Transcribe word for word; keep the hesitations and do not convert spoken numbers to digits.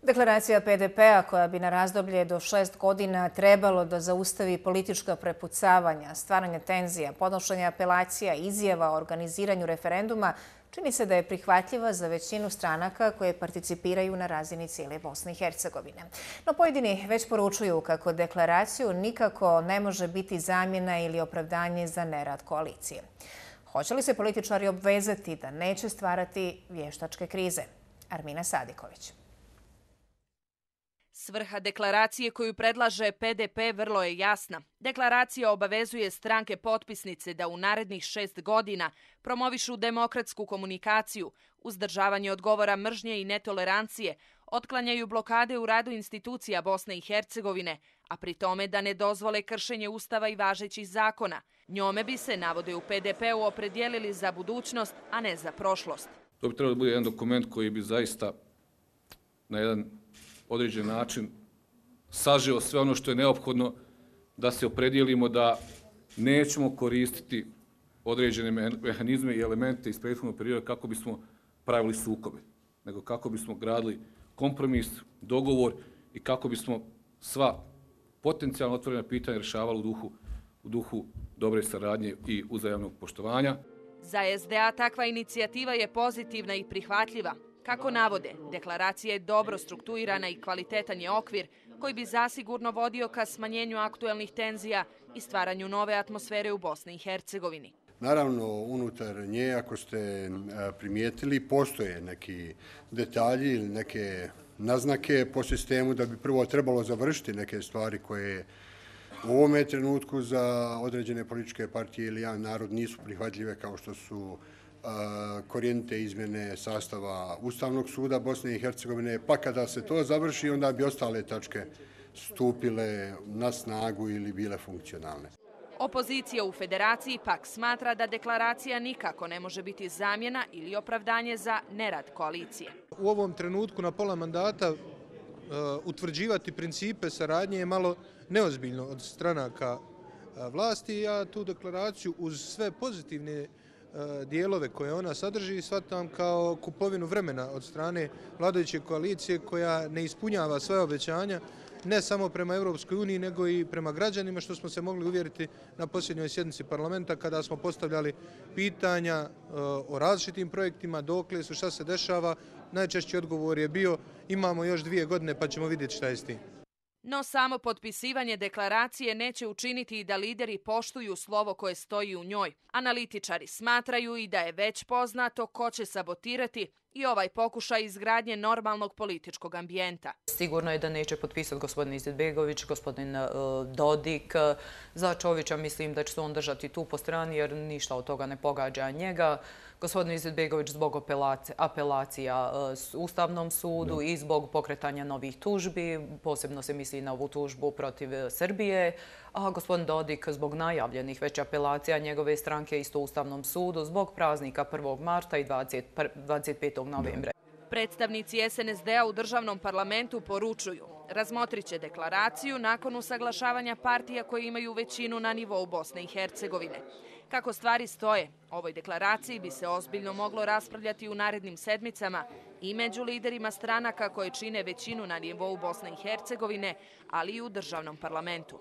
Deklaracija P D P-a koja bi na razdoblje do šest godina trebalo da zaustavi politička prepucavanja, stvaranje tenzija, podnošenje apelacija, izjava o organiziranju referenduma, čini se da je prihvatljiva za većinu stranaka koje participiraju na razini cijele Bosne i Hercegovine. No pojedini već poručuju kako deklaraciju nikako ne može biti zamjena ili opravdanje za nerad koalicije. Hoće li se političari obvezati da neće stvarati vještačke krize? Armina Sadiković. Svrha deklaracije koju predlaže P D P vrlo je jasna. Deklaracija obavezuje stranke potpisnice da u narednih šest godina promovišu demokratsku komunikaciju, uzdržavanje od govora mržnje i netolerancije, otklanjaju blokade u radu institucija Bosne i Hercegovine, a pri tome da ne dozvole kršenje Ustava i važećih zakona. Njome bi se, navode u P D P-u, opredijelili za budućnost, a ne za prošlost. To bi trebalo da bude jedan dokument koji bi zaista na jedan određen način sažeo sve ono što je neophodno da se opredijelimo da nećemo koristiti određene mehanizme i elemente iz prethodnog perioda kako bismo pravili sukobe, nego kako bismo gradili kompromis, dogovor i kako bismo sva potencijalno otvorena pitanja rješavali u duhu, u duhu dobre saradnje i uzajamnog poštovanja. Za S D A takva inicijativa je pozitivna i prihvatljiva. Kako navode, deklaracija je dobro strukturirana i kvalitetan je okvir koji bi zasigurno vodio ka smanjenju aktuelnih tenzija i stvaranju nove atmosfere u Bosni i Hercegovini. Naravno, unutar nje, ako ste primijetili, postoje neki detalji ili neke naznake po sistemu da bi prvo trebalo završiti neke stvari koje u ovome trenutku za određene političke partije ili jedan narod nisu prihvatljive, kao što su korijenite izmjene sastava Ustavnog suda Bosne i Hercegovine, pa kada se to završi, onda bi ostale tačke stupile na snagu ili bile funkcionalne. Opozicija u federaciji pak smatra da deklaracija nikako ne može biti zamjena ili opravdanje za nerad koalicije. U ovom trenutku na pola mandata utvrđivati principe saradnje je malo neozbiljno od stranaka vlasti. Ja tu deklaraciju uz sve pozitivne dijelove koje ona sadrži shvatam kao kupovinu vremena od strane vladajuće koalicije koja ne ispunjava svoje obećanja ne samo prema Europskoj uniji nego i prema građanima, što smo se mogli uvjeriti na posljednjoj sjednici parlamenta kada smo postavljali pitanja o različitim projektima, dokle su, šta se dešava. Najčešći odgovor je bio imamo još dvije godine pa ćemo vidjeti šta je s tim. No samo potpisivanje deklaracije neće učiniti da lideri poštuju slovo koje stoji u njoj. Analitičari smatraju i da je već poznato ko će sabotirati i ovaj pokušaj izgradnje normalnog političkog ambijenta. Sigurno je da neće potpisati gospodin Izetbegović, gospodin Dodik. Za Čovića mislim da će se on držati tu po strani jer ništa od toga ne pogađa njega. Gospodin Izetbegović zbog apelacija Ustavnom sudu i zbog pokretanja novih tužbi, posebno se misli na ovu tužbu protiv Srbije, a gospodin Dodik zbog najavljenih već apelacija njegove stranke isto Ustavnom sudu zbog praznika prvog marta i dvadeset petog novembra. Predstavnici S N S D-a u državnom parlamentu poručuju razmotrit će deklaraciju nakon usaglašavanja partija koje imaju većinu na nivou Bosne i Hercegovine. Kako stvari stoje, ovoj deklaraciji bi se ozbiljno moglo raspravljati u narednim sedmicama i među liderima stranaka koje čine većinu na nivou Bosne i Hercegovine, ali i u državnom parlamentu.